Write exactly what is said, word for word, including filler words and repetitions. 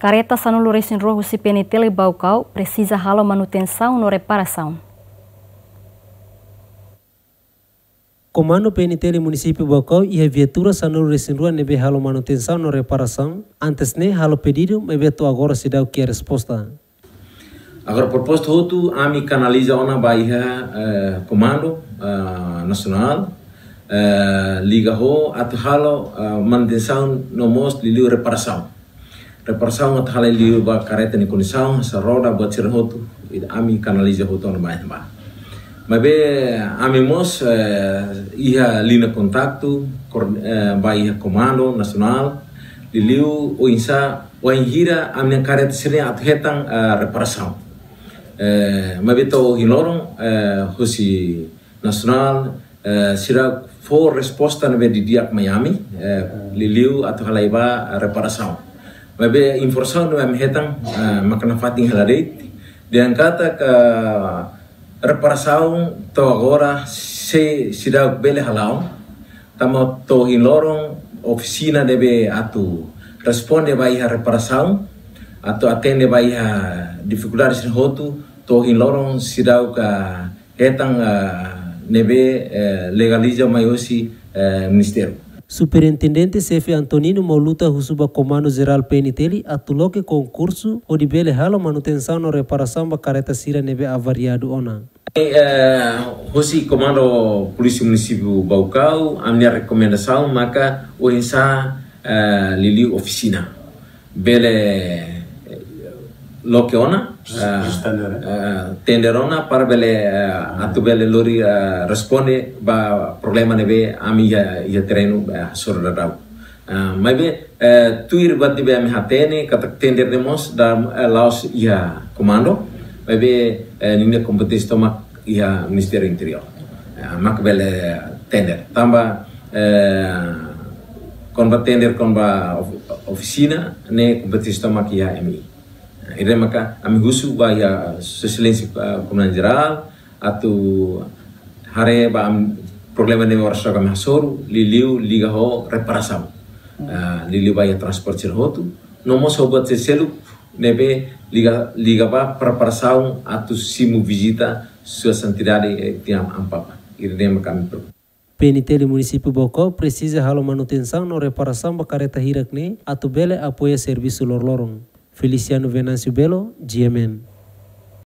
Kareta sanulu-resin-rua husi P N T L Baucau presiza halo manutensaun no reparasaun. Komandu P N T L Munisípiu Baucau iha viatura sanulu-resin-rua ne'ebé halo manutensaun no reparasaun, antes ne'e halo pedidu, maibé to'o agora seidauk iha resposta. Agora, proposta hotu, ami kanaliza ona ba iha, eh, Komandu, eh, Nasionál, eh, liga ho atu halo, eh, manutensaun no mós liuliu reparasaun. Reparasaun atu halai liu ba kareta nia kondisaun, sira-nia roda, buat sira hotu, ami kanaliza hotu ona ba iha ne'ebá. Maibé ami mós, eh, iha liña kontaktu, kor-, eh, ba iha Komandu Nasionál, liuliu oinsá, wainhira ami-nia kareta sira-ne'e atu hetan, eh, reparasaun. Eh, maibé to'o ohin loron, eh, husi Nasionál, eh, sira fó resposta ne'ebé didi'ak mai ami, eh, liuliu atu halai ba reparasaun. Maibé informasaun ne'ebé ami hetan, eh, maka nafatin hela de'it, dehan katak reparasaun to'o agora sei, seidauk bele hala'o, tanba to'o ohin loron ofisina ne'ebé atu responde ba iha reparasaun, atu atende ba iha difikuldade sira hotu, to'o ohin loron seidauk hetan, ah, ne'ebé, eh, legaliza mai hosi, eh, Ministériu. Superintendente Xefe Antonino Mauluta husu ba Komandu Jerál P N T L atu loke konkursu hodi bele halo manutensaun no reparasaun ba kareta sira ne'ebé avariadu ona. Eh, husi Komandu Polísia Munisípiu Baucau, ami-nia rekomendasaun maka oinsá, eh, liuliu ofisina bele, eh, loke ona, Jus-, eh, jus tender, eh? Eh, tender ona para bele, eh, atu bele lori, eh, responde ba problema ne'ebé ami iha, iha terrenu, eh, hasoru daudaun. Eh, maibé, eh, tuir buat ne'ebé ami hatene, katak tender ne'e mós dala, eh, la'ós iha Komandu, maibé, eh, ninia kompeténsia tomak iha Ministériu Interiór. Eh, mak bele tender. Tanba, eh, kona-ba tender, kona-ba of-, ofisina, ne'e kompeténsia tomak iha M I. Eh, ida-ne'e maka ami husu ba iha Sua Exelénsia, eh, Komandante Jerál, atu haree ba ami problema ne'ebé oras ne'e ami hasoru, liuliu liga ho reparasaun. Hmm. Ah, liuliu ba iha transporte sira hotu, no mós ho buat seluk ne'ebé liga, liga ba preparasaun atu simu vizita Sua Santidade, eh, Tiam Amu Papa. Ida-ne'e maka ami preokupa. P N T L Munisípiu Baucau presiza halo manutensaun no reparasaun ba kareta hirak ne'e atu bele apoia servisu loroloron. Feliciano Venâncio Belo, G M N.